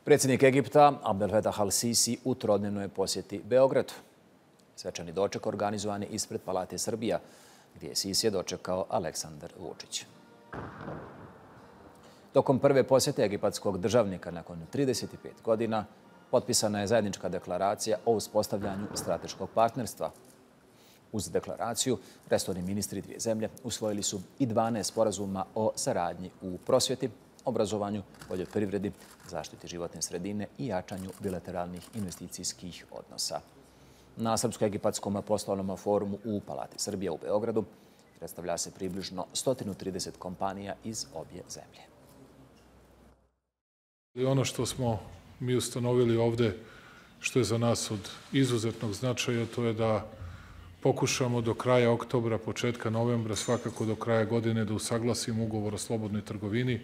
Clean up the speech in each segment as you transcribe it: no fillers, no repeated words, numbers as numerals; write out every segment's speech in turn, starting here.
Predsjednik Egipta Abdel Fattah al-Sisi u trodnevnoj posjeti Beogradu. Svečani doček organizovan je ispred Palate Srbija, gdje je Sisi dočekao Aleksandar Vučić. Tokom prve posjete egipatskog državnika nakon 35 godina potpisana je zajednička deklaracija o uspostavljanju strateškog partnerstva. Uz deklaraciju, resorni ministri dvije zemlje usvojili su i 12 sporazuma o saradnji u prosvjeti, obrazovanju, poljoprivredi, zaštiti životne sredine i jačanju bilateralnih investicijskih odnosa. Na Srpsko-egipatskom poslovnom forumu u Palati Srbija u Beogradu predstavlja se približno 130 kompanija iz obje zemlje. Ono što smo mi ustanovili ovde, što je za nas od izuzetnog značaja, to je da pokušamo do kraja oktobra, početka novembra, svakako do kraja godine da usaglasimo ugovor o slobodnoj trgovini,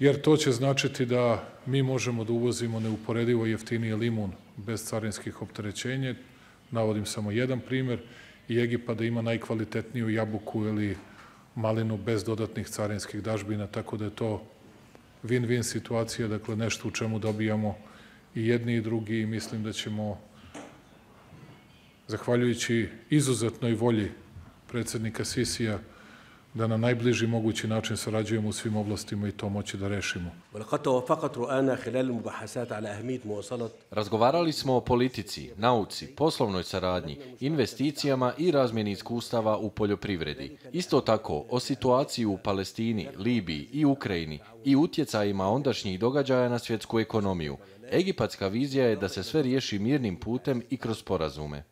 jer to će značiti da mi možemo da uvozimo neuporedivo jeftinije limun bez carinskih opterećenja. Navodim samo jedan primer, i Egipat da ima najkvalitetniju jabuku ili malinu bez dodatnih carinskih dažbina, tako da je to win-win situacija, dakle nešto u čemu dobijamo i jedni i drugi, i mislim da ćemo, zahvaljujući izuzetnoj volji predsjednika Sisija, da na najbliži mogući način sarađujemo u svim oblastima i to moći da rešimo. Razgovarali smo o politici, nauci, poslovnoj saradnji, investicijama i razmjeni iskustava u poljoprivredi. Isto tako o situaciji u Palestini, Libiji i Ukrajini i utjecajima ondašnjih događaja na svjetsku ekonomiju. Egipatska vizija je da se sve riješi mirnim putem i kroz sporazume.